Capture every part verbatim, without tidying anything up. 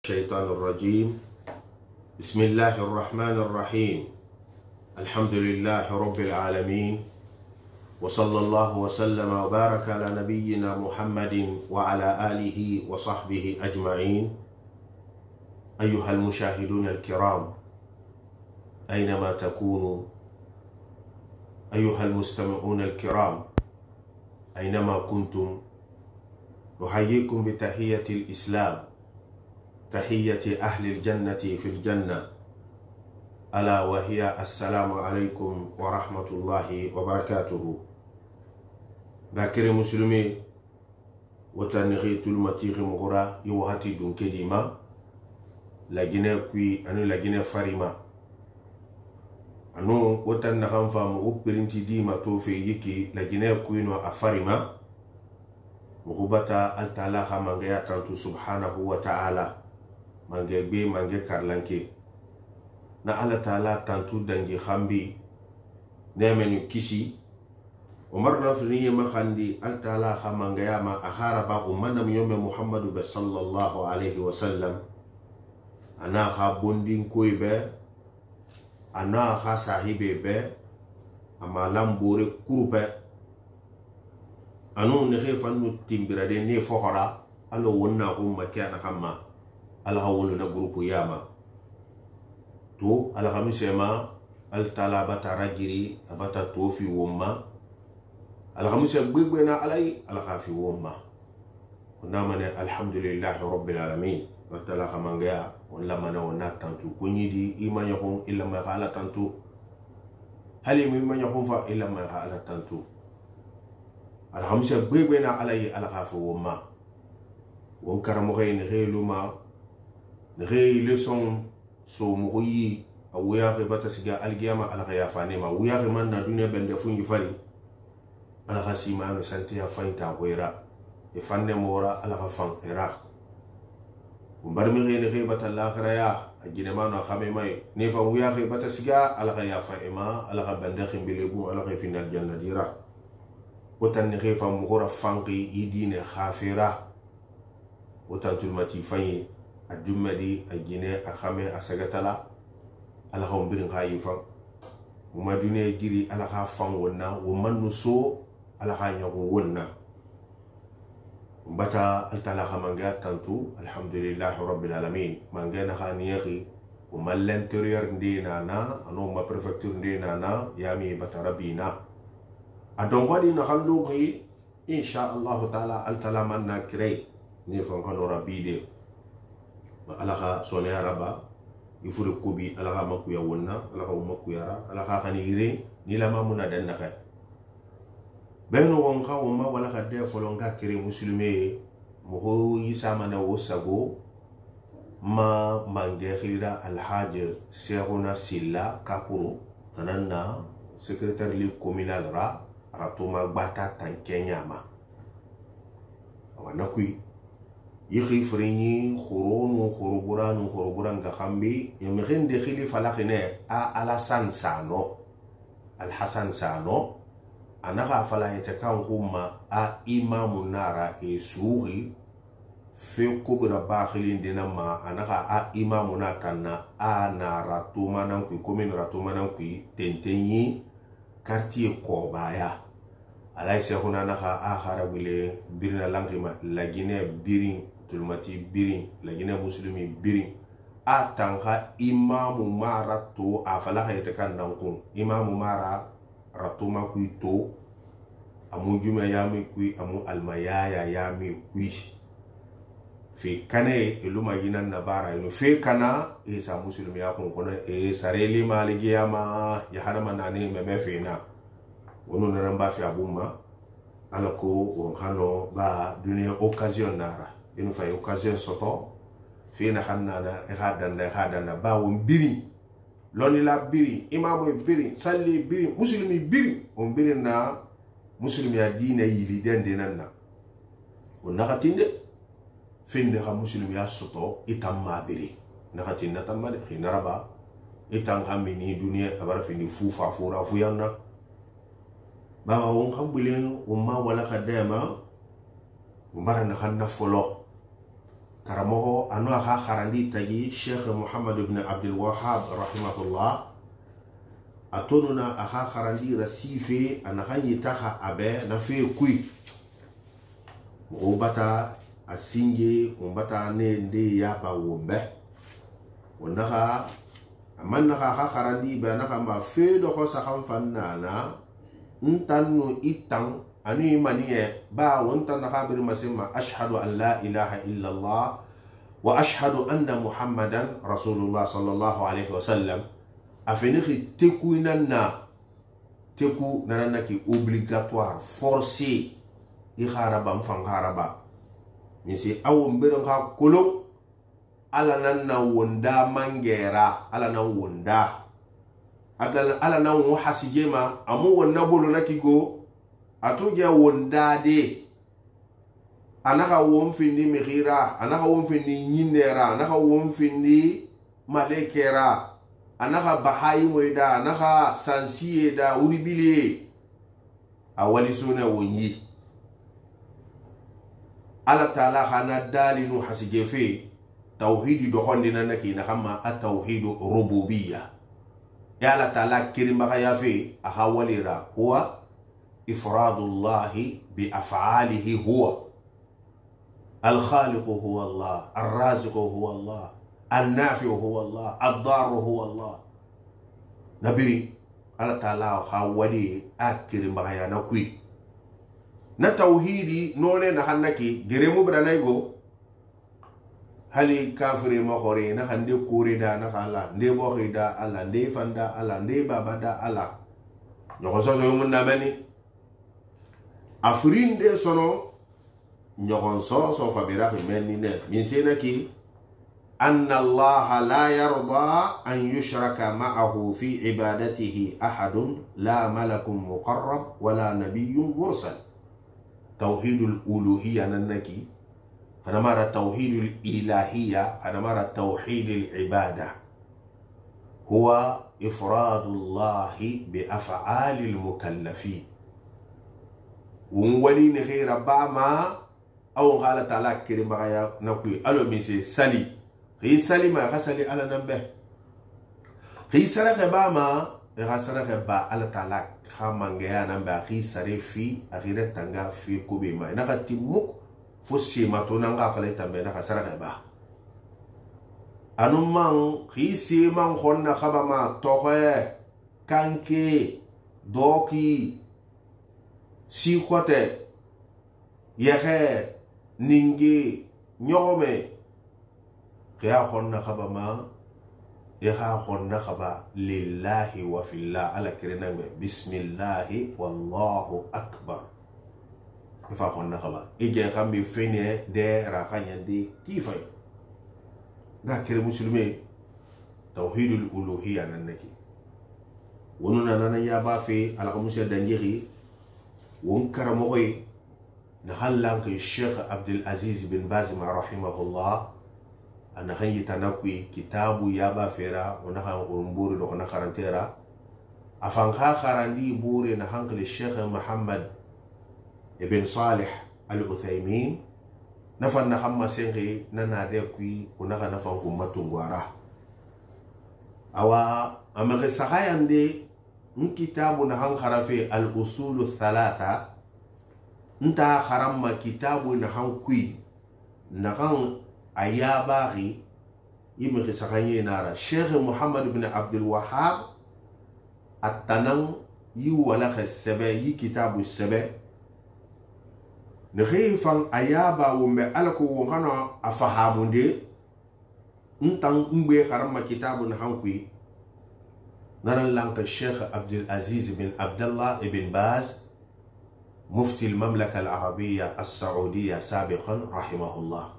الشيطان الرجيم بسم الله الرحمن الرحيم الحمد لله رب العالمين وصلى الله وسلم وبارك على نبينا محمد وعلى آله وصحبه أجمعين. أيها المشاهدون الكرام أينما تكونوا، أيها المستمعون الكرام أينما كنتم، نحييكم بتحية الإسلام، تحية أهل الجنة في الجنة، ألا وهي السلام عليكم ورحمة الله وبركاته. باكر مسلمي وتنغي تلمتيغ مغرى يوهاتي دون كديما لجنة كوي أنو لجنة فريما أنو وتنغم فامغو برنتي ديما توفي يكي لجنة كوي نو أفريما مغبتا التالاها منغيا تنتو سبحانه وتعالى mange be mange karlanke na ala taala tantu dangi khambi nemenu kisi umar na finiye makhandi al taala khamanga yama akhara ba umman yome muhammadu sallallahu alaihi wasallam ana kha bondin koybe ana kha sahibe be ama lambore kurupe anu ne khefanu timbirade ne fokhora alo wonna ko makana khamma alhawulu na grupu yama to alhamisema altala bata rajiri abata tofi womma alhamisa gbegbe na alai alhafi womma kuna mane alhamdulillahi rabbil alamin watala khamangaya wala mana wana tantu kunyidi imanya hon illa ma khala tantu hali mi imanya hon fa illa ma khala tantu alhamisa gbegbe na alai alhafi womma won karamo khayni khayluma nere leçon so moyi awuya ke bata siga algiyama ala ya fane ma wuya ke man na dunya bende fungi fali ala khasima no santi ya fainta hoira e fanne mora ala ka fan era umbar mi ne ke bata l'akhira ya ajine ma no khame mai ne fa wuya ke bata siga ala ya fa ema ala ka bende khimbele bu ala ka final janna dira otan ne ke fa mu hora fanqi idine khafira otan tulmati fayi adumadi ajine akhame asagatala ala ha umbirin khayi fan uma dune giri ala ha fan wonna wo mannu so ala ha nyago wonna bata altala khamanga tantu alhamdulillah rabbil alamin mangena khaniyhi uma l'intérieur ndina na ano ma préfecture ndina na yami bata rabina adon wadi na khallu gi insha Allah taala altala manna kirei ni fon kanu rabide alaha sone araba ifure kubi alaha makuya wonna alaha umakuyara alaha khanire ni lama muna danna khay beno wonka woma wala ka de folonga kire muslime mo yisama na wosago ma mange khira alhaj Sekhuna Silla Kakuru tananna secrétaire li communal ra ratuma bata tankenyama wana kui yikhi frini khurunu khuruburanu khuruburan ga khambi yamghin de khili falakine a alasan sano alhasan sano anaka fala yatakan kuma a imamu nara e suri fe kubra bakhilin dinama anaka a imamu natanna a nara tumanan ku komin ratumanan ku tentenyi quartier Kobaya alay Sekhuna naka a harawile birna langima lagine birin tulmati birin lagine muslimi birin atanga imamu mara to afala hayte kan dankun imamu mara ratuma kuito amu jume yami kui amu almayaya yami kui fi kane iluma yinan nabara ino fi kana isa muslimi yakun kono e sareli maligi yama ya harama nani meme fina wono namba fi abuma alako won hano ba dunia occasion nara inu fay occasion soto fi na hanana e hadanda e hadanda ba won biri loni la biri imamu biri salli biri muslimi biri on biri na muslimi ya dina yili dende nanna on nakatinde finde ha muslimi ya soto itamma biri nakatinda tamma de hinaraba itang hamini dunia abara fini fufa fura fuyanna ba won hambule umma wala kadema umbara na hanna folo karamogo anu aha kharandi tagi Sheikh Muhammad ibn Abdul Wahhab rahimahullah atonuna aha kharandi rasife anahanyi taha abe na fe kui mubata asinge umbata ne nde yaba wombe wonaka amanaka aha kharandi be naka ma fe do ko sakhan fannana ntanu itang ani maniye ba wonta na khabir masima ashhadu an la ilaha illa Allah wa ashhadu anna Muhammadan Rasulullah sallallahu alaihi wasallam afeniki teku inana teku nanana ki obligatoire forcé i kharaba mfan kharaba misi awo mberon ka kolo ala nanna wonda mangera ala nan wonda adala ala nan wo hasijema amu wonna bolo nakigo atuja wonda de anaka won findi mihira anaka won findi nyinera anaka won findi malekera anaka bahai moida anaka sansiye da uribile awali suna wonyi ala taala hana dalinu hasijefe tauhidi do hondina naki na kama at-tauhidu rububiyya ya ala taala kirimaka yafe aha walira huwa ifradullahi bi af'alihi huwa الخالق هو الله الرازق هو الله النافع هو الله الضار هو الله نبري الله تعالى حوالي أكثر ما ينقي نتوحيدي نونه نحنكي جريمو برانايغو هل كافر ما قري نحندي كوريدا نحلا ندي بوخيدا الله ندي فندا الله ندي بابدا الله نخصوص يوم النامني أفرين دي سنو نيغون سو سو فبيرا في منينه من سينكي ان الله لا يرضى ان يشرك معه في عبادته احد لا ملك مقرب ولا نبي مرسل توحيد الالوهيه ننكي انا مره توحيد الالهيه انا مره توحيد العباده هو افراد الله بافعال المكلفين وولين غير باما أو قال تعالى كريم بغايا نقول ألو ميسي سالي هي سالي ما غسالي على نمبه هي سرق باما غسرق با على تعالى خامان جاء نمبه هي سرق في أغير تنجا في كوبي ما نقطي مك فسي ما تونغا فلي تنبه نغسرق با أنو مان هي سي مان خون خبا ما توه كانكي دوكي سيخوته يخه ninge nyome kya khonna khaba ma ya khonna khaba lillahi wa fillah ala kirename bismillah wallahu akbar fa khonna khaba ije khambi fene de ra khanyandi kifay ga kire muslime tauhidul uluhiyya nanaki wonuna nana ya ba fe ala ko musel danjiri won karamoy نحلق الشيخ عبد العزيز بن باز رحمه الله أنا هي تناقي كتاب يابا فيرا ونحن أمبور لغنا خرانتيرا أفنها خراندي بوري نحنق الشيخ محمد ابن صالح العثيمين نفن نحما سنغي نناديكي ونحن نفن كمتو غوارا أوا أما غسخايا دي كتاب نحن خرافي الأصول الثلاثة nta kharamma kitabu na hankui na kan ayabari yimi khisakanye nara Sheikh Muhammad ibn Abdul Wahhab atanan yi wala khasaba yi kitabu saba ne khifan ayaba wo me alako wo hana afahamunde ntan ngbe kharamma kitabu na hankui naran lanka Sheikh Abdul Aziz bin Abdullah ibn Baz مفتي المملكة العربية السعودية سابقا رحمه الله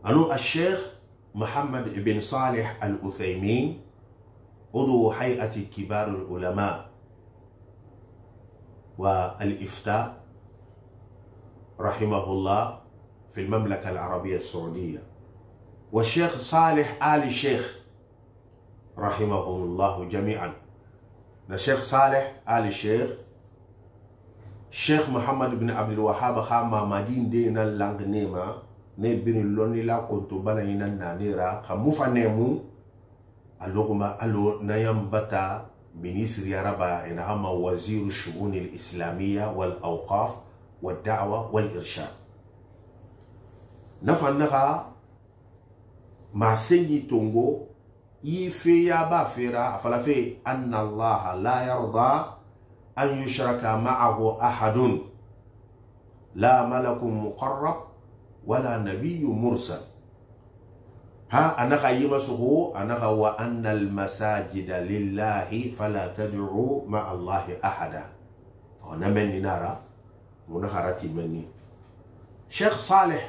أنو الشيخ محمد بن صالح العثيمين عضو هيئة كبار العلماء والإفتاء رحمه الله في المملكة العربية السعودية والشيخ صالح آل الشيخ رحمهم الله جميعا الشيخ صالح آل الشيخ الشيخ محمد بن عبد الوهاب خاما مدين دينا لانغ نيما ne birin lonni la konto bana ina nanira khamu fanemu aloguma alo nayam bata ministri araba ina hama wazir shu'un al-islamiyya wal awqaf wad da'wa wal irshad nafannaha ma senyi tongo yife ya ba fera afalafe anna Allah la yarda an yushraka ma'ahu ahadun la malakun muqarrab wala nabiyyun mursal ha anaka yimasuhu anaka wa anna al masajida lillahi fala tad'u ma'a Allah ahada ona menni nara munakharati menni Sheikh Saleh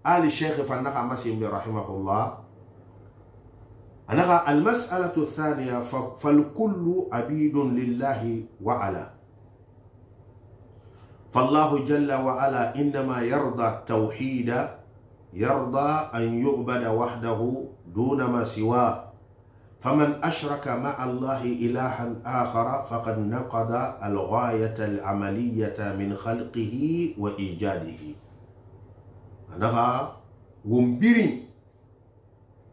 Ali Sheikh fanaka masim rahimahullah أنها المسألة الثانية فالكل عبيد لله وعلا فالله جل وعلا إنما يرضى التوحيد يرضى أن يعبد وحده دون ما سواه فمن أشرك مع الله إلها آخر فقد نقض الغاية العملية من خلقه وإيجاده أنها ومبرين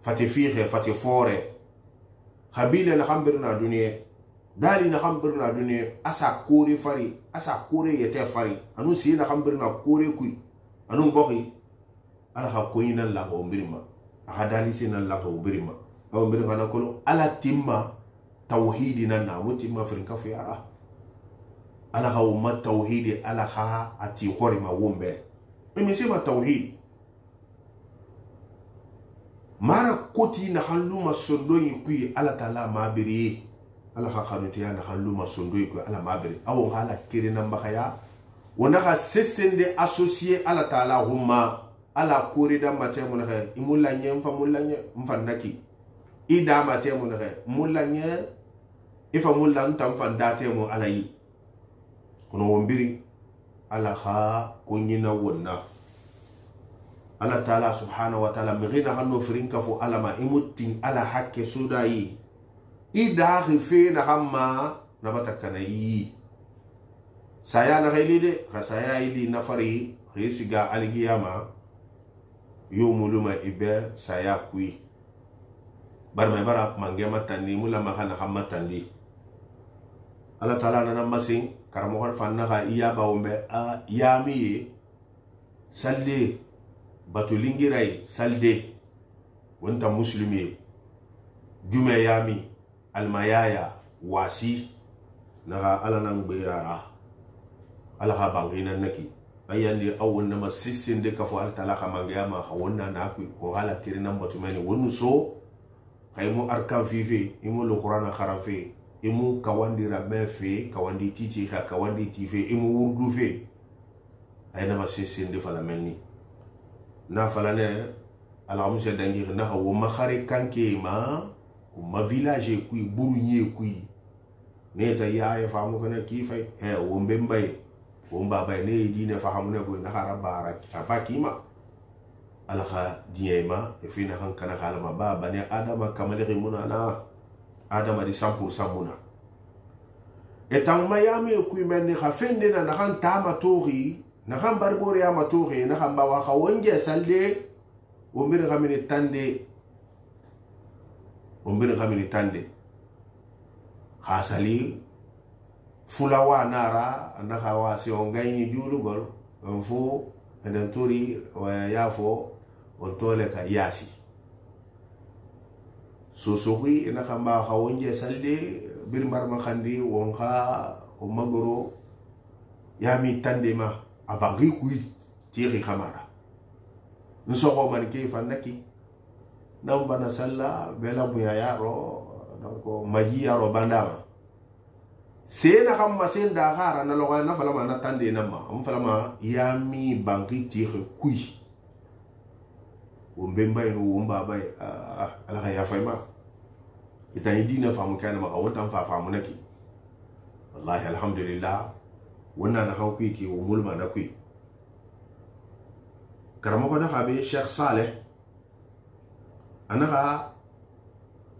فتفيخ فتفوري خبيلة نخمبرنا دنيا دالي نخمبرنا دنيا أسا كوري فري أسا كوري يتي فري أنو سي نخمبرنا كوري كوي أنو بخي أنا خاكوين الله ومبرما أخدالي سينا الله ومبرما أو مبرما نقول ألا تيما توحيدنا نامو تيما فرنكا في أرى ألا خاوما توحيدي ألا خا أتي خوري ما ومبر إمي سيما توحيد mara koti na haluma sondoi kui ala tala mabiri ala khanutia na haluma sondoi kui ala mabiri awo hala kire namba khaya wona kha sesende associé ala tala humma ala korida mate mun kha imulla nyem fa mulla nye mfandaki ida mate mun kha mulla nye ifa mulla ntam fandate mo ala yi kono wombiri ala kha kunyina wonna Allah Ta'ala subhanahu wa ta'ala mghina hanno firinka fu alama imutin ala hakke sudayi ida khife na hamma nabata kanayi saya na ghailide ka saya ili nafari khisiga aligiyama yumuluma ibe saya kui barma bara mangema tandi mula makana hamma tandi Allah Ta'ala nana masin karamo har fanna ga iya bawmbe a yami salli batulingirai salde wanta muslimi jume yami almayaya wasi naha ala nan bayara ala ha bangina naki ayandi awon nama sissin de kafo al talaka mangiyama hawonna na ku ko hala kirinan batumani wonu so kaymu arkan fifi imu alquran kharafi imu kawandi ramefi kawandi titi ka kawandi tifi imu wurdu fe ayna ma sissin de fala menni na falane ala musa dangi na hawo makhare kanke ma ma village kui burunye kui ne ta ya ya famu kana kifai he wo mbembay wo mbaba ne dine fahamu ne ko na harabara abakima ala kha diema e fina kan kana kala ma baba ne adama kamale muna na adama di cent pour cent muna etan mayami kui men kha fende na kan tama tori na kan barbore ya maturi na kan bawa ka wonje salde o mbir kamini tande o mbir kamini tande hasali fulawa nara na kawa si on gagni julugol on fo enden tori wa yafo on tole ka yasi so so wi na kan bawa ka wonje salde bir marma khandi won kha o magoro yami tande ma abangi kui tiri kamara nsoko man ke fanaki namba na salla bela buya yaro donc maji yaro bandama sena kamma senda khara na loga na fala na tande nama am fala ma yami bangi tiri kui wombemba no womba bay ala ya fayma ita idina famu kana ma wonta fa famu naki wallahi alhamdulillah wannan na hauki ki umulma na kui karamo ko na habe Sheikh Saleh anaka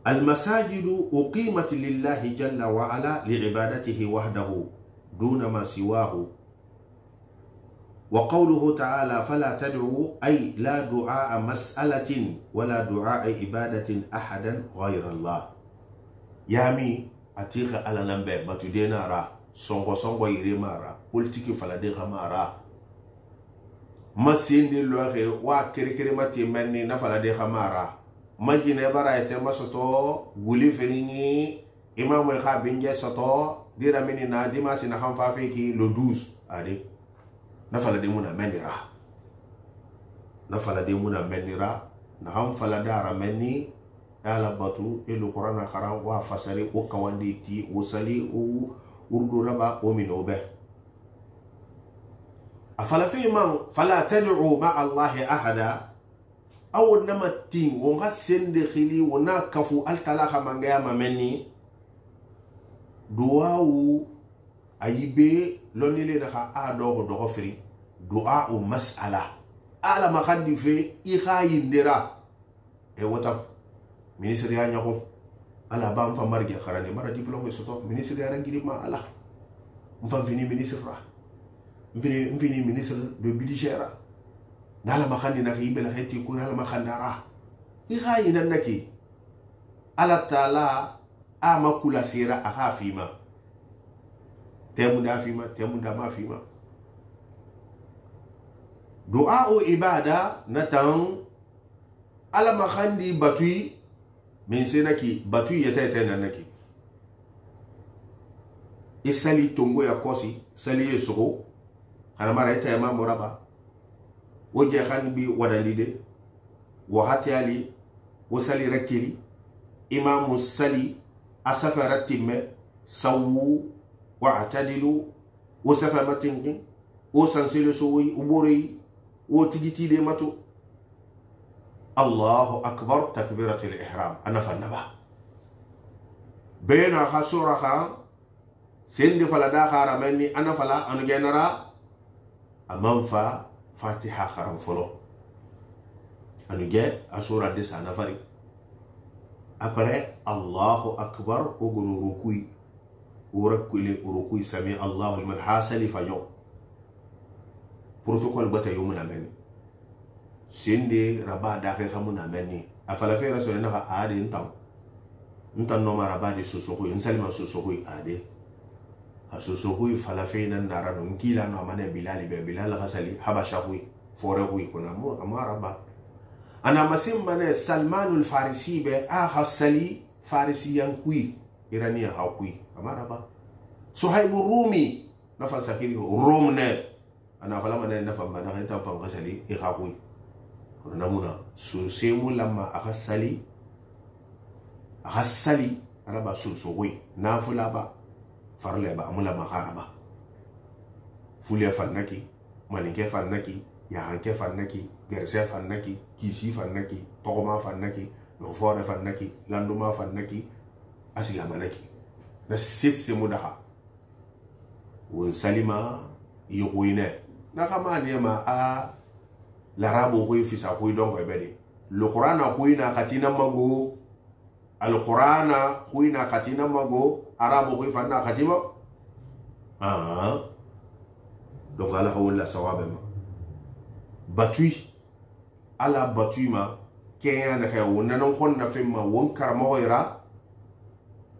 المساجد أقيمت لله جل وعلا لعبادته وحده دون ما سواه وقوله تعالى فلا تدعوا أي لا دعاء مسألة ولا دعاء عبادة أحدا غير الله يامي أتيخ على نمبر باتدينا را سونغو سونغو يريما را بولتيكي فلاديخ ما را ما سيندي لوغي وا كري كري ماتي مني نفلاديخ ما را ما جيني برا يتما سطو غولي فريني إمام الخا بنجي سطو ديرا مني نا ديما سينا خنفافيكي لو دوز أدي nafala de muna menira nafala de muna menira na ham fala dara menni ala batu elu qur'ana khara wa fasari o kawandi ti o sali o urdu raba o minobe afala fi man fala tad'u ma allah ahada aw namatin wo ngasende khili wona kafu al talaha mangaya menni duwawu ayibe lonile na a do do firi du'a o mas'ala ala ma khandi fe i khayindira e wota ministre ya nyako ala ba mfa marge kharani bara diplôme soto ministre ya ngiri ma ala mfa vini ministre ra vini vini ministre de budget ra nala ma khandi na yibe la kheti ko nala ma khandara i khayina naki ala taala ama kula sira aha fima temu da fima temu da ma fima du'a o ibada natan ala makhandi batui min senaki batui yata yata nanaki isali tongo ya kosi sali yesugo ana mara yata yama moraba woje khan bi wadalide wa hatiyali wa sali rakili imamu sali asafara timme sawu واعتدلوا وسفمتين وسنسلوا سوي وبوري وتجتي ديمتو الله أكبر تكبيرة الإحرام أنا فالنبا بين خسورة خام سند فلا دا خارا مني أنا فلا أنا جنرا أمام فا فاتحة خرم فلو أنا جاء أسورة ديس أنا فري أبرة الله أكبر أقول ركوي وركوي وركوي سمي الله لمن حاسل فيوم بروتوكول بتا يومنا مني سندي ربا داخل خمونا مني أفلا في رسول الله عادي انتم انتم نوما ربا دي سوسوكوي انسلم سوسوكوي عادي سوسوكوي فلا فينا نارانو نكيلا نومانا بلالي بلال غسلي حبشاكوي فورهوي كنا مو أما ربا أنا مسيم بنا سلمان الفارسي بي آخر سلي فارسيان كوي إيرانيا هاوكوي amaraba suhaibu rumi nafal sakiri romne ana fala mana nafal mana hanta fam gasali e khakui namuna su semu lamma akhasali akhasali araba su sogoi nafula ba farle ba amula maharaba fulia fannaki malinke fannaki ya hanke fannaki gerse fannaki kisi fannaki togoma fannaki no fore fannaki landuma fannaki asiga manaki na sisse mudaha won salima yokoine na kama niema a larabo ko fisa ko don ko bedi le qur'ana ko ina katina mago al qur'ana ko ina katina mago arabo ko fanna katima ah donc ala hawla sawabema batui ala batui ma kenya na kay wonna non kon na femma won karmo ira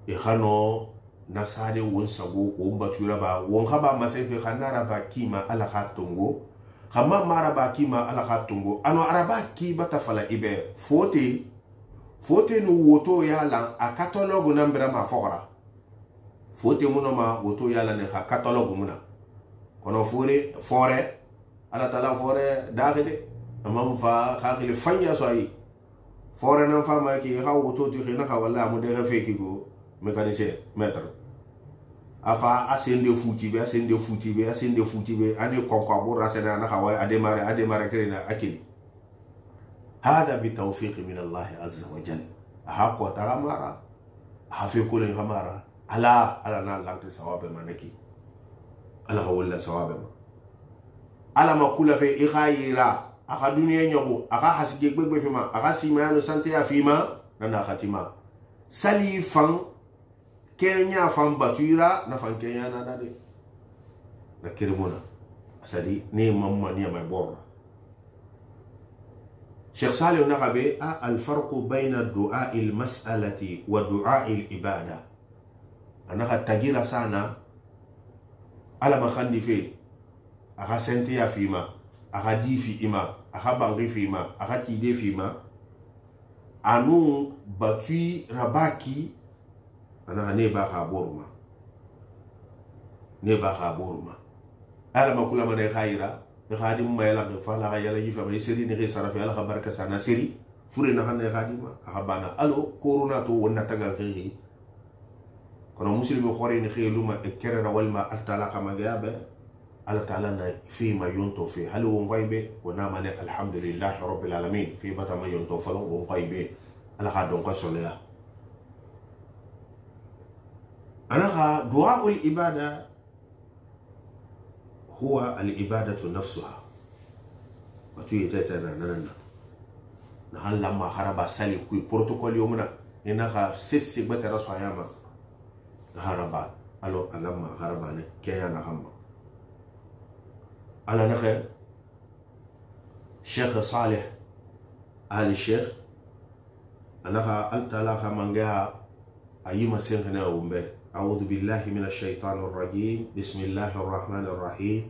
e khano nasade won sago won batura ba won haba masefe khanara ba kima ala khatungo khama mara ba kima ala khatungo ano araba ki batafala ibe fote fote no woto yala a catalogue nambra ma fora fote muno ma woto yala ne ha catalogue muna kono fore fore ala tala fore dakhide amam fa khakile fanya so ay fore nan fa ma ki ha woto ti khina ka wala mu de feki go mécanicien maître afa asende fouti be asende fouti be asende fouti be ane konko bo rasena na xaway a démarrer a démarrer krena akili hada bi tawfiq min Allah azza wa jalla ha ko taramara ha fe ko le hamara ala ala na lanke sawabe manaki ala wala sawabe ma ala ma kula fe ikhayira aka duniya nyoko aka hasige gbegbe fima aka simano sante ya fima nana khatima sali fan Kenya fan batuira na fan Kenya na dade na kirimuna asadi ne mamma ni ma borra Sheikh Salih nakabe a alfarqu bayna du'a al-mas'alati wa du'a al-ibada anaka tagira sana ala makhandi fe aka sente ya fima aka di fi ima aka bangi fima aka tide fima anu batui rabaki anaka ne ba ka boruma ne ba ka boruma ala makula mane khaira khadim ma yala fa la yala yifa ma seri ne sara fi ala baraka sana seri fure na hanne khadima aka bana alo corona to wonna tagal xixi kono muslimi khore ni khiluma e kerera walma altala kama gabe ala taala na fi ma yonto fi hal wo ngoybe wona mane alhamdulillah rabbil alamin fi bata ma yonto falo wo ngoybe ala ka don ko solela anaka du'a ul ibada هو الإبادة نفسها وتوي تيتنا نانا نحن لما خرب سالي كوي بروتوكول يومنا إنها سيسي بتر صياما خرب ألو لما خرب أنا كيانا هم على نخ شيخ صالح آل الشيخ أنا أنت لا خمانجها أيما سينغنا ومبه أعوذ بالله من الشيطان الرجيم بسم الله الرحمن الرحيم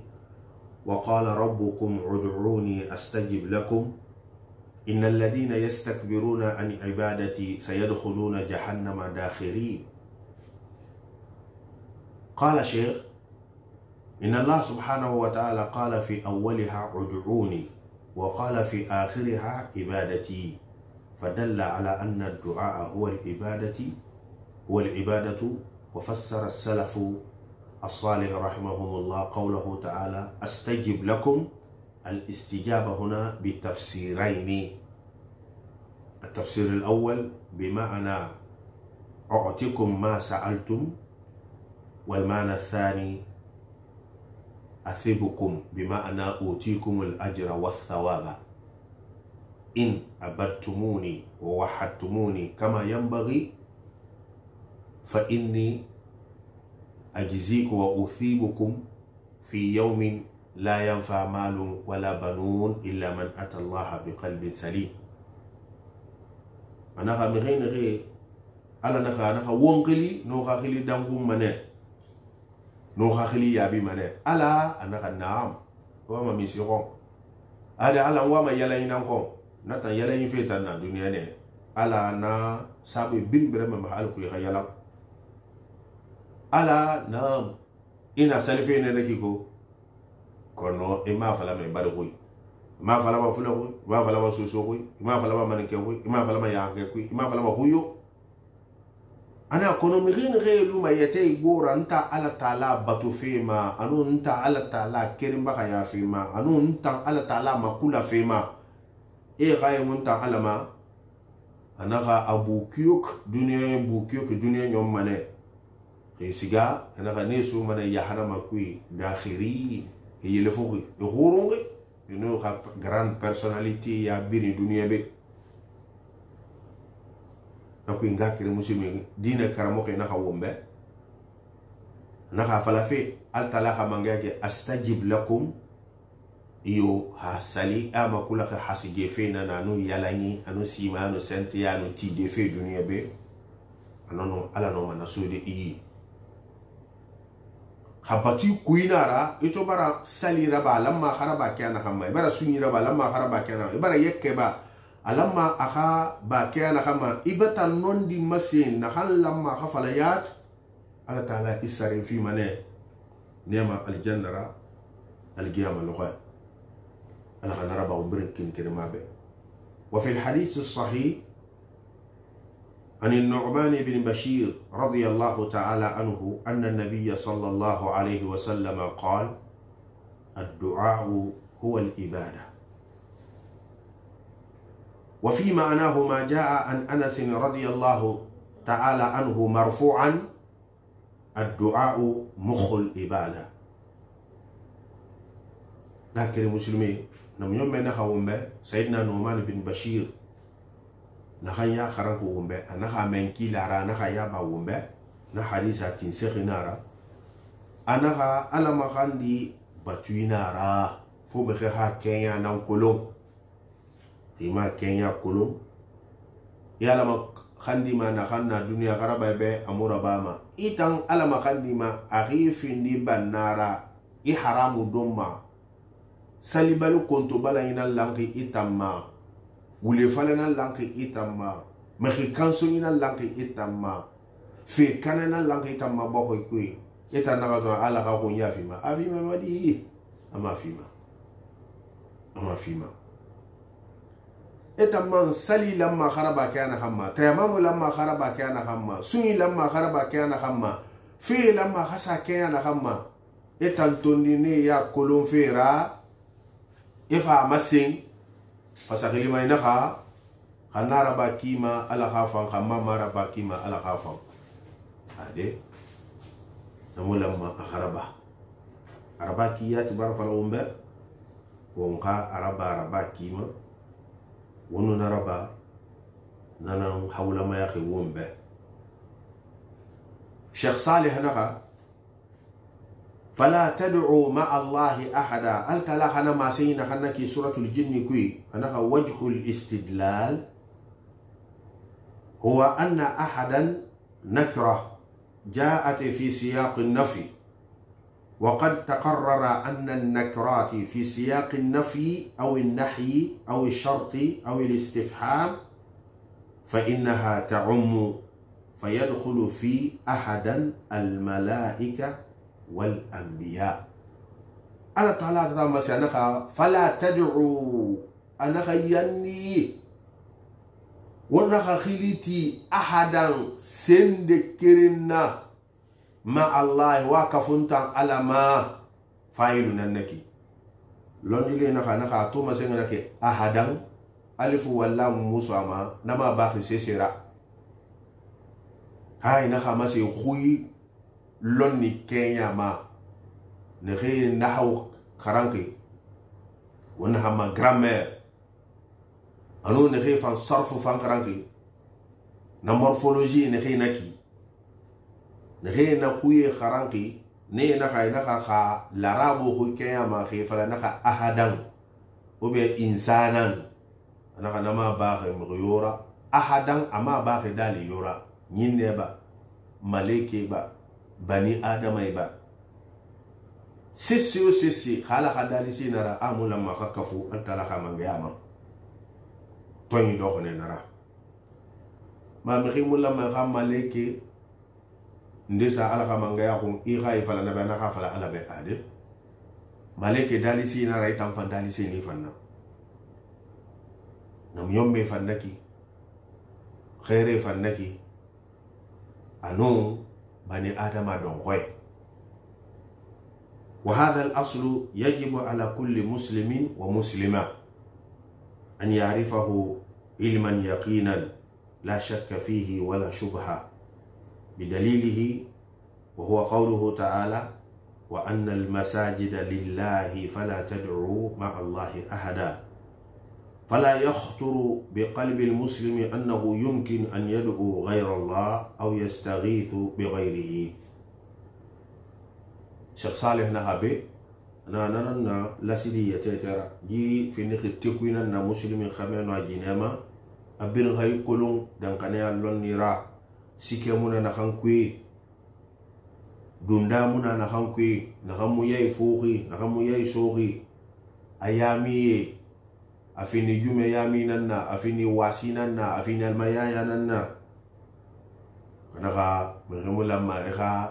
وقال ربكم ادعوني أستجب لكم إن الذين يستكبرون عن عبادتي سيدخلون جهنم داخرين قال شيخ إن الله سبحانه وتعالى قال في أولها ادعوني وقال في آخرها عبادتي فدل على أن الدعاء هو العبادة هو العبادة وفسر السلف الصالح رحمهم الله قوله تعالى أستجب لكم الاستجابة هنا بتفسيرين التفسير الأول بمعنى أعطيكم ما سألتم والمعنى الثاني أثبكم بمعنى أوتيكم الأجر والثواب إن عبدتموني ووحدتموني كما ينبغي فإني أجزيك وأثيبكم في يوم لا ينفع مال ولا بنون إلا من أتى الله بقلب سليم أنا خامرين غير على نخا نخا وونقلي نوخا خلي دمكم منه نوخا خلي يابي منه ألا أنا نعم وما ميسيرون هذا على وما يلاين نكون نتا يلاين فيتنا الدنيا نه ألا أنا سابي بين برم محل كل خيالك ala na ina salife ne nake ko kono e ma fala me bari koy ma fala ma fula koy ma fala ma soso koy ma fala ma manke koy ma fala ma yaake koy ma fala ma huyo ana kono mi rin relu ma yete gora nta ala taala batu fema anu nta ala taala kerimba ka ya fema anu nta ala taala makula fema e gaye munta ala ma anaka abukiyuk dunya bukiyuk dunya nyom mane siga anaka nesu mana yahara makui dakhiri yele foki horonge no ha grande personnalité ya bini dunia be nako ngakire muslimi dina karamo ke naka wombe naka falafe al talaha mangake astajib lakum iyo ha sali ama kula ka hasije fe na nanu yalani anu sima anu sente ya anu ti de fe dunia be anono ala no mana sode yi habati kuinara ito bara sali raba lamma kharaba kana khamma bara sunni raba lamma kharaba kana bara yekke ba alamma akha ba kana khamma ibata nondi masin na hal lamma khafalayat ala taala isari fi mane nema aljannara alqiyama luqa ala khana raba umbrikin kirmabe wa fi alhadith as-sahih عن النعمان بن بشير رضي الله تعالى عنه أن النبي صلى الله عليه وسلم قال الدعاء هو الإبادة وفي معناه ما جاء عن أنس رضي الله تعالى عنه مرفوعا الدعاء مخ الإبادة لكن المسلمين نم يوم نخوهم سيدنا نعمان بن بشير نخيا خرق ومبه أنا خامن كيلارا نخيا باومبه نحديث تنسخنارا أنا خا على ما خاندي batuina ra fo be ha kenya nan kolon ima kenya kolon yala ma khandi ma na khanna dunia garaba be amura bama itan alama khandi ma akhifin di banara i haramu domma salibalu konto bala ina lanki itamma wule falana lanki itamma mekhi kanso ina lanki itamma fe kanana lanki itamma boko kui eta na zo ala ka ko yafima afima madi ama fima ama fima etamman sali lamma kharaba kana hamma tayamamu lamma kharaba kana hamma suni lamma kharaba kana hamma fi lamma khasa kana hamma etan tondine ya kolon fera ifa masin fasakili mai naka khanara bakima ala khafan khamma mara bakima ala khafan ade namulamma kharaba araba kiyati barfal umbe wonka araba araba kima wono naraba nanan hawla ma yakhi wombe Sheikh Salih naka فلا تدعوا مع الله أحدا الكلا خنا ما سينا خنا كي سورة الجن كوي أنا وجه الاستدلال هو أن أحدا نكرة جاءت في سياق النفي وقد تقرر أن النكرات في سياق النفي أو النحي أو الشرط أو الاستفهام فإنها تعم فيدخل في أحدا الملائكة والأنبياء الله تعالى تما سنخا فلا تدعوا أنا خياني ونخا خليتي أحدا سندكرنا مع الله وكفنتا على ما فايلنا نكي لون يلي نخا نخا توما سنغنكي أحدا ألف ولا مسوما نما باقي سيسرا هاي نخا مسي خوي lonni kenya ma ne xey nahaw kharanki wona hama grammaire anu ne xey fan sarfu fan kharanki na morphologie ne xey naki ne xey na xuye kharanki ne na xay na kha larabu khu kenya ma xey fala na kha ahadan ou bien insanan na kha nama ba xe yora ahadan ama ba xe dali yora nyinde ba maleke ba bani adama iba sisi o sisi khala khadali sinara amula ma khakafu antala khamangayama toni do khone nara ma mi khimula ma khamaleke ndesa ala khamangaya ko i khay fala na bana khafala ala be ade maleke dali sinara itam fan dali sini fanna nam yomme fannaki khaire fannaki anu بني آدم دونغوي وهذا الأصل يجب على كل مسلم ومسلمة أن يعرفه علما يقينا لا شك فيه ولا شبهة بدليله وهو قوله تعالى وأن المساجد لله فلا تدعوا مع الله أحدا فلا يخطر بقلب المسلم أنه يمكن أن يدعو غير الله أو يستغيث بغيره. شيخ صالح نهابي أنا نانا لا سيدي يتترى جي في نخ التكوين أن مسلم خمين وجنما أبين غاي كلون دان كنيا لون نيرا سيكمونا نخانكوي دندامونا نخانكوي نخامو ياي فوقي نخامو ياي سوقي أيامي afini jume yami nanna afini wasi nanna afini almayaya nanna kanaka mehemula ma eha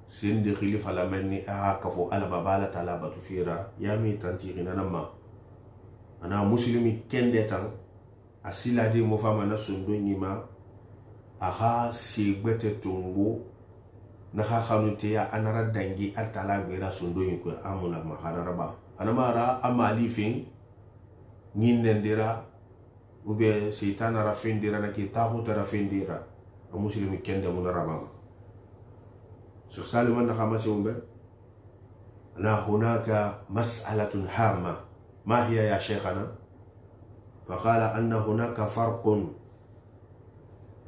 sindi khilifa la menni aha kafo ala babala tala batu fira yami tanti ginanama ana muslimi kende tan asila di mo fama na sundo nyima aha sigbete tungu na ha khanute ya anara dangi altala bera sundo yiko amuna maharaba anamara amali fin nyinendira ube seitana rafindira na kitabu tarafindira muslimi kende munarabam Sheikh Salim na khamasi umbe na hunaka mas'alatun hama ma hiya ya sheikhana faqala anna hunaka farqun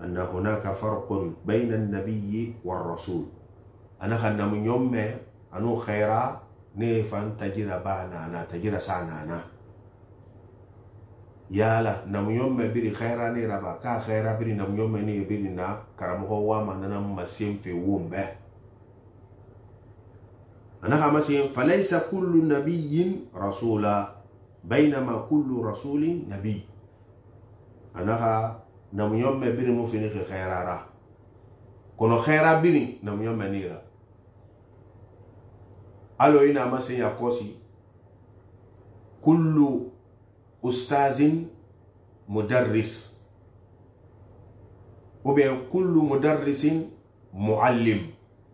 anna hunaka farqun bayna an-nabiy war rasul ana khanna mun yomme anu khaira ne fan tajira ba nana tajira sa nana yala namuyon me biri khaira ne raba ka khaira biri namuyon me ne biri na karamogo wa manana masim fe wumbe anaka masim falaysa kullu nabiyyin rasula bainama kullu rasulin nabiy anaka namuyon me biri mu fini khaira ra kono khaira biri namuyon me nira alo ina masim ya kosi kullu ustazin mudarris وبين كل مدرس معلم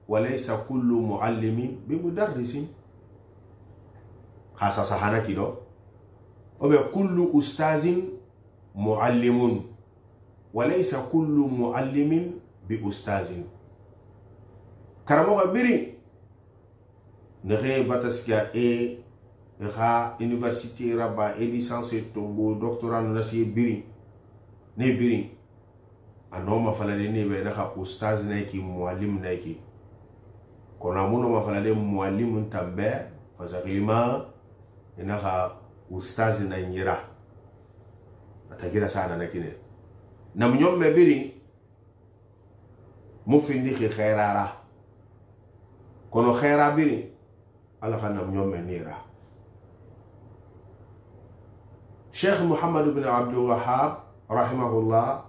وليس كل معلم بمدرس خاصة صحنا كده وبين كل أستاذ معلم وليس كل معلم بأستاذ كرموها بري نغي باتسكا إيه ha université raba e licence tombo doctorat nasi biri ne biri anoma falale ne be na ustaz na ki muallim na ki kona muno ma falale muallim tambe fazakilima ina ha ustaz na nyira atagira sana na kine nam nyom me biri mu findi ki khairara kono khaira biri ala kana nyom me nira شيخ محمد بن عبد الوهاب رحمه الله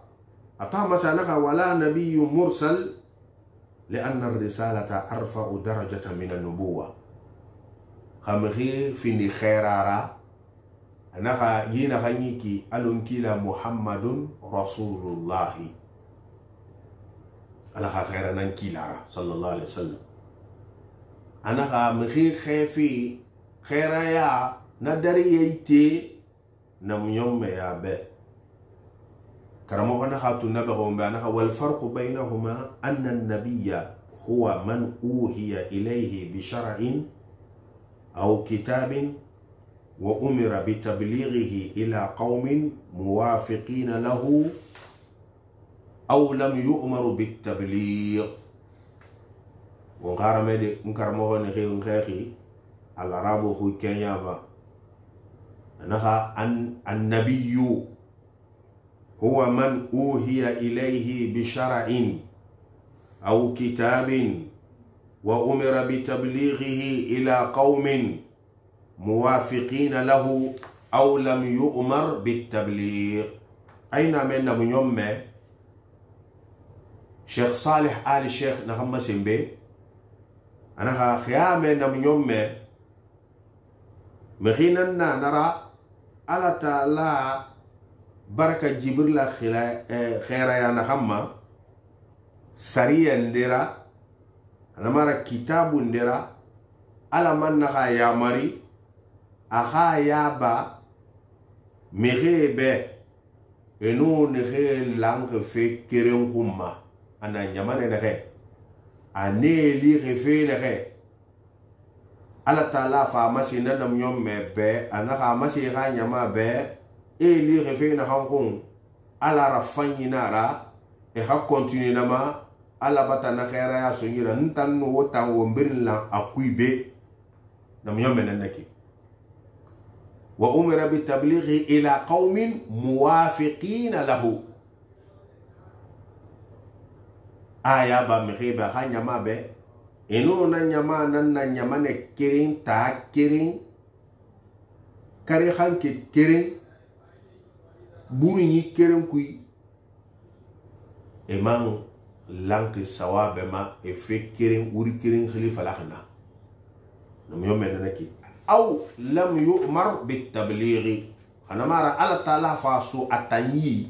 أطاع مسألة ولا نبي مرسل لأن الرسالة أرفع درجة من النبوة خمخي في خيرارا أنها جينا خنيكي ألنكيلا محمد رسول الله أنها خيرنا نكيلا صلى الله عليه وسلم أنها مخي خيفي خيرايا ندري يتي نميوم يا به كرمونا خاتو نبغهم بأنها والفرق بينهما أن النبي هو من أوحي إليه بشرع أو كتاب وأمر بتبليغه إلى قوم موافقين له أو لم يؤمر بالتبليغ وغارمدي نكرمونا خير خيري على رابو هو كينيابا أنها النبي هو من أوحي إليه بشرع أو كتاب وأمر بتبليغه إلى قوم موافقين له أو لم يؤمر بالتبليغ أين من من يوم شيخ صالح آل الشيخ نغم سنبي أنها خيام من يوم مخيننا نرى على تعالى بركة جبريل خيرا يا نخما سريا ندرا أنا مرة كتاب ندرا على من نخا يا مري أخا يا با مخي به إنو نخي لانك في كريم خما أنا نجمان نخي أني لي خفي نخي ala taala fa masi na nam yom me be anaka masi ga nyama be e li refe na hankun ala rafanyi nara e ha continue na ma ala bata na khaira ya so yira ntan no wotan wo mbirla akuibe nam yom na naki wa umira bi tablighi ila qaumin muwafiqin lahu aya ba me ba ha nyama be eno na nyama nan na nyama ne kirin ta kirin kare hanke kirin buri yi kirin kui eman lanki sawabe ma e fe kirin uri kirin khalifa lakhna nam yome na ki aw lam yu'mar bit tablighi ana mara ala taala fa su atanyi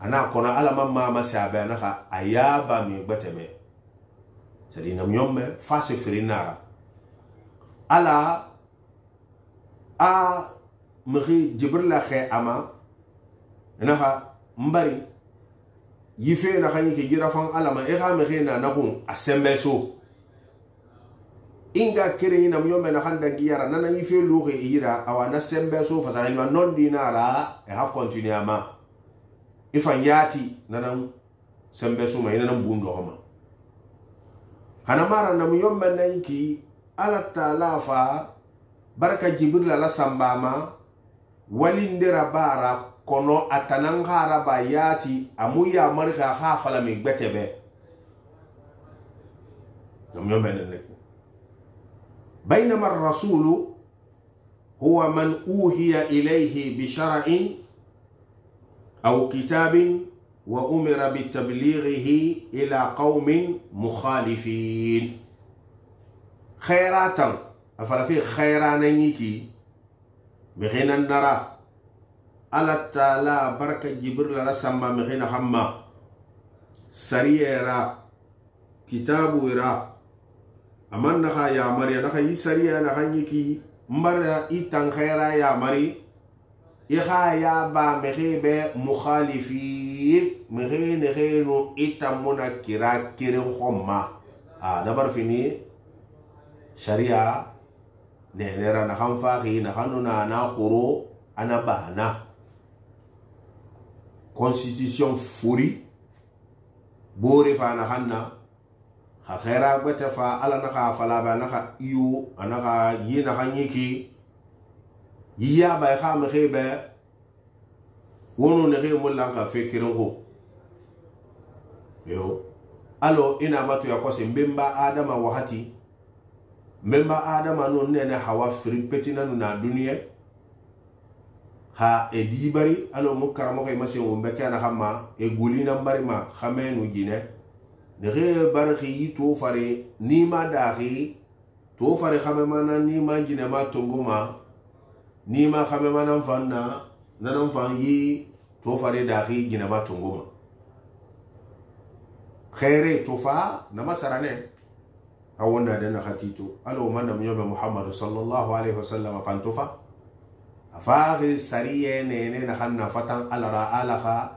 ana kona ala mamma masabe na ka ayaba mi gbateme sadi nam yome fase frinara ala a mri jibril khe ama naha mbari yife na khani ke jira fan ala ma e ga mri na na kun asembeso inga kire nam yome na khanda giyara nana yife luxe ira awa na sembeso fa sa ilma non dinara e ha continue ama ifan yati nanan sembeso ma ina nan bundo hama hanamara nam yomba nanki ala taala fa baraka jibril ala sambama walindira bara kono atanan haraba yati amu ya marika ha fala mi gbetebe ñom benen nek baynama ar-rasul huwa man uhiya ilayhi bi shar'in aw kitabin wa umira bi tablighihi ila qaumin mukhalifin khairatan afala fi khairanan yiki mexena nara ala taala baraka jibril la samba mexena hamma sariyera kitabu ira aman naxa yamari naxa yi sariya naxa yiki mbara itan khaira yamari ixa yaba mexe be mukhalifin mexe nexenu itan muna kira kirin xomma a dabar fini sharia nenera na kan faxi na xanu nana xoro ana bana constitution furi bore fa na xanna xa xera gbete fa ala na xa falaba na xa iyo ana xa yi na xan yiki yiya bay xa mexe be wono nexe mulan ka fekirin xo yo alo ina matu ya kose mbemba adama waxati memba adama no nene hawa firi petina na duniya ha e dibari alo mukaramo kay masin wo mbeke na xama e gulina bari ma xamenu jine ne re barxi to fare ni ma daxi to fare xame mana ni ma jine ma tonguma ni ma xame mana fanna nanan fan yi to fare daxi jine ma tonguma khaire to fa na masarane awonna dana khatito alo manam yobe muhammad sallallahu alaihi wasallam fantufa afaghi sariye nene na hanna fatan alara alaha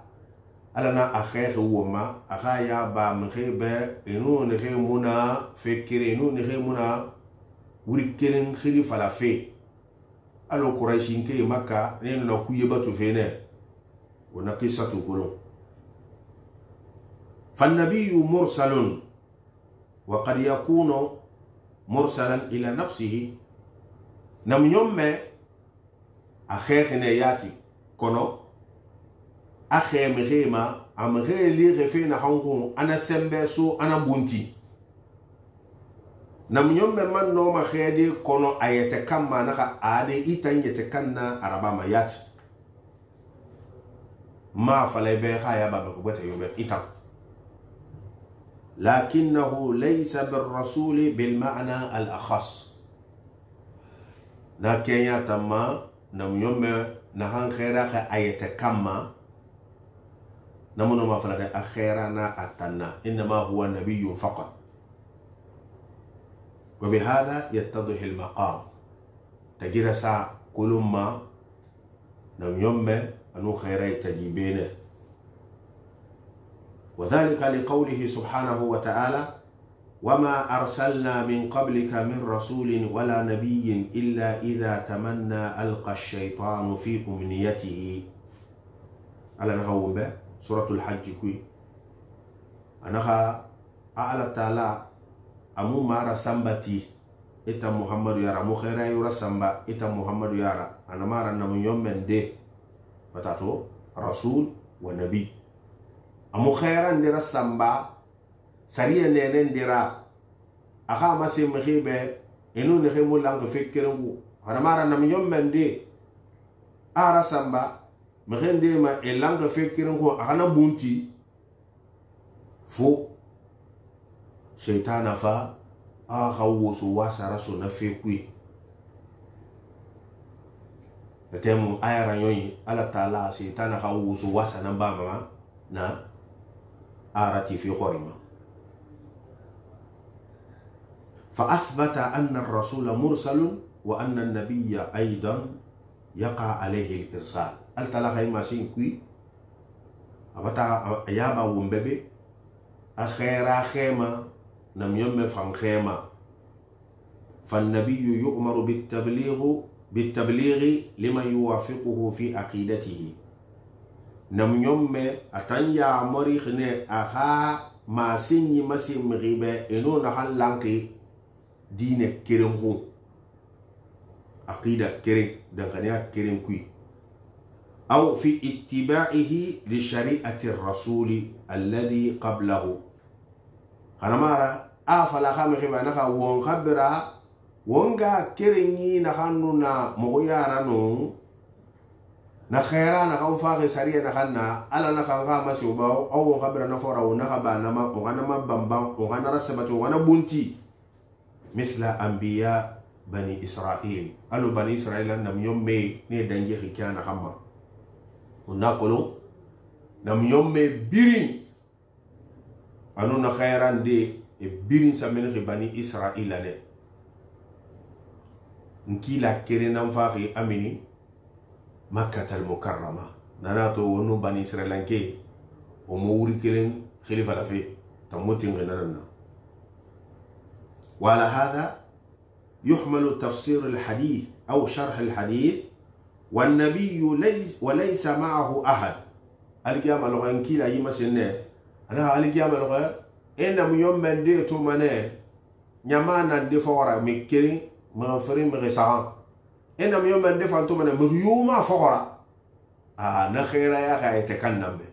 alana akhair woma akhaya ba mkhebe inu ne muna fekire inu ne muna wuri kelen khili fala fe alo quraishin ke makka ne na kuye batu fene wana qissatu kulun فالنبي مرسل وقد يكون مرسلا إلى نفسه نم يوم أخيخ نياتي كنو أخي مغيما أم غيلي غفين حنقون أنا سمبسو أنا بنتي نم يوم من نوم خيدي كنو أيتكما نخا آدي إتن يتكنا عربا ما ياتي ما فلي بيخا يابا بكبت يوم إتن لكنه ليس بالرسول بالمعنى الأخص لكن يتما نم يوم نهان خيرا أيتكما نمون ما فلد أخيرنا أتنا إنما هو نبي فقط وبهذا يتضح المقام تجد ساعة كل ما نم يوم أنو خيرا تجيبينه وذلك لقوله سبحانه وتعالى وما أرسلنا من قبلك من رسول ولا نبي إلا إذا تمنى ألقى الشيطان في أمنيته على نهوم به سورة الحج كوي أنها أعلى تعالى أمو مارا سنبتي إتا محمد يارا مو خيرا يورا سنبا إتا محمد يارا أنا مارا نمو يوم من دي بتاتو رسول ونبي amu khairan dira samba sariya nenen dira aka masi mkhibe inu ne khimu lang fikkiru hana mara nam yommende ara samba mkhende ma elang fikkiru ko akana bunti fu shaytana fa aka wusu wasara so na fikwi temu ayara yoyi ala taala shaytana ka wusu wasana ba mama na آرتي في خورما فأثبت أن الرسول مرسل وأن النبي أيضا يقع عليه الإرسال التلاقي ما سينكوي أبتا أيابا ومببي أخيرا خيما نم يوم فان خيما فالنبي يؤمر بالتبليغ بالتبليغ لمن يوافقه في عقيدته nam yomme atanya mori khne aha ma sinyi masim ribe eno na halanki dine keren ho aqida keren dankaniya keren kui aw fi ittiba'ihi li shari'ati ar-rasuli alladhi qablahu hanamara a fala khame khiba naka won khabira wonga kerenyi na hanuna mo yara no na khaira na kan fa sariya na kanna ala na kan ga masu ba aw won khabira na fora wona khaba na ma ko na mabamba ko na rasabatu wana bunti mithla anbiya bani isra'il alu bani isra'il nam yomme ne danje khikana hamma unakolo nam yomme biri anu na khairan de e birin samen bani isra'il ne nkila kere nam faxi amini makkah al mukarrama nanato wonu bani isra'il ke o mo wuri kelen khalifa la fe tamutin ganana wala hada يحمل تفسير الحديث أو شرح الحديث والنبي ليس وليس معه أحد الجامع لغة كلا يمسنه أنا الجامع لغة إن يوم من دي تومنه نيامان دي فورا مكين مغفرين مغسان إن يوم من دي فانتومنه مغيوما فورا آه نخيرا يا خي تكلم به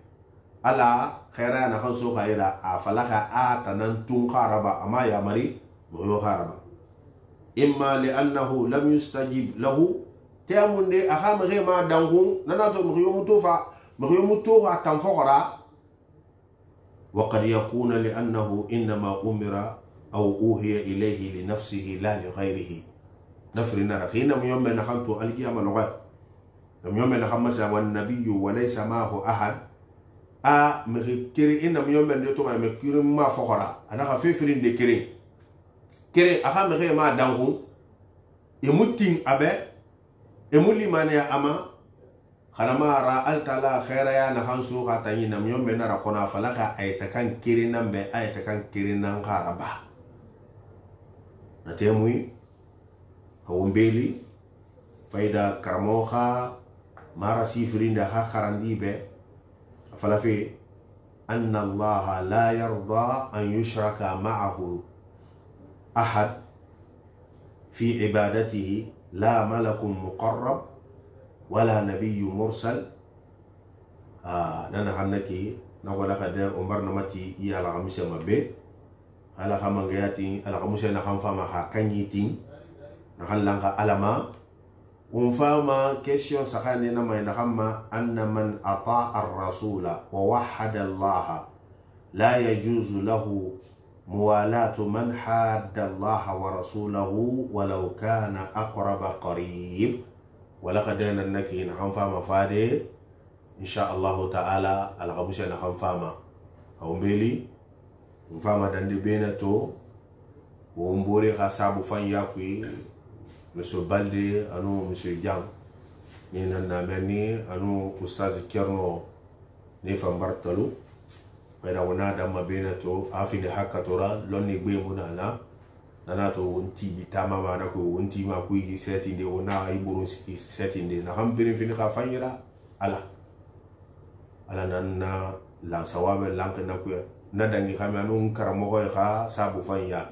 ألا خيرا نخنسو خيرا أفلاك آتنا تون خاربا أما يا مري مغيو خاربا إما لأنه لم يستجيب له تأمن دي أخام غير ما دانغون نناتو مغيوم توفا مغيوم توفا تنفقرا وقد يكون لأنه إنما أمر أو أوهي إليه لنفسه لا لغيره نفرنا رخينا يوم نخنتو القيامة لغاية يوم نخمس والنبي وليس معه أحد أ مغيكري إنما يوم نتوما مغير ما فقرا أنا خفيفرين دي كري kere aha mere ma dangu emutin abe emuli mane ama khanama ra altala khaira ya na hansu ka tanyi nam yombe na rakona falaka ayta kan kere nambe ayta kan kere nan haraba na temui hawombeli faida karmoha mara sifrinda ha kharandi be falafi anna allaha la yarda an yushraka ma'ahu أحد في عبادته لا ملك مقرب ولا نبي مرسل آه نانا حنكي نقول لك ده عمر نمتي يا الغمسة مبه على خمانجياتي على غمسة نخم فما حكانيتين نخل لانك علما ونفهم كيشيون سخاني نما نخم أن من أطاع الرسول ووحد الله لا يجوز له موالاة من حاد الله ورسوله ولو كان أقرب قريب ولقد ننكي نحن فاما فادي إن شاء الله تعالى الغمسة نحن فاما هومبيلي نفاما دندي بينتو ومبوري خاسابو فان ياكوي مسو بالي أنو مسو جام نينا نامني أنو أستاذ كيرنو نيفا مبرتلو Pada wana da mabena to afini haka tora lonni gbe muna na nana to wonti bitama ma na ko wonti ma ku yi setting de wona ay buru setting de na hambirin fini ka fanyira ala ala nan na la sawabe lank na ku na dangi khama nun karamo ko kha sabu fanya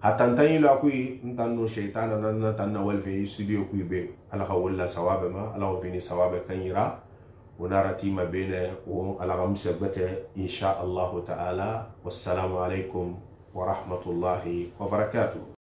hatan tan ila ku ntan no shaytan nan na tan na wal fi studio ku be ala ka wala sawabe ma ala fini sawabe kanyira ونرى تيما بين على غمس إن شاء الله تعالى والسلام عليكم ورحمة الله وبركاته.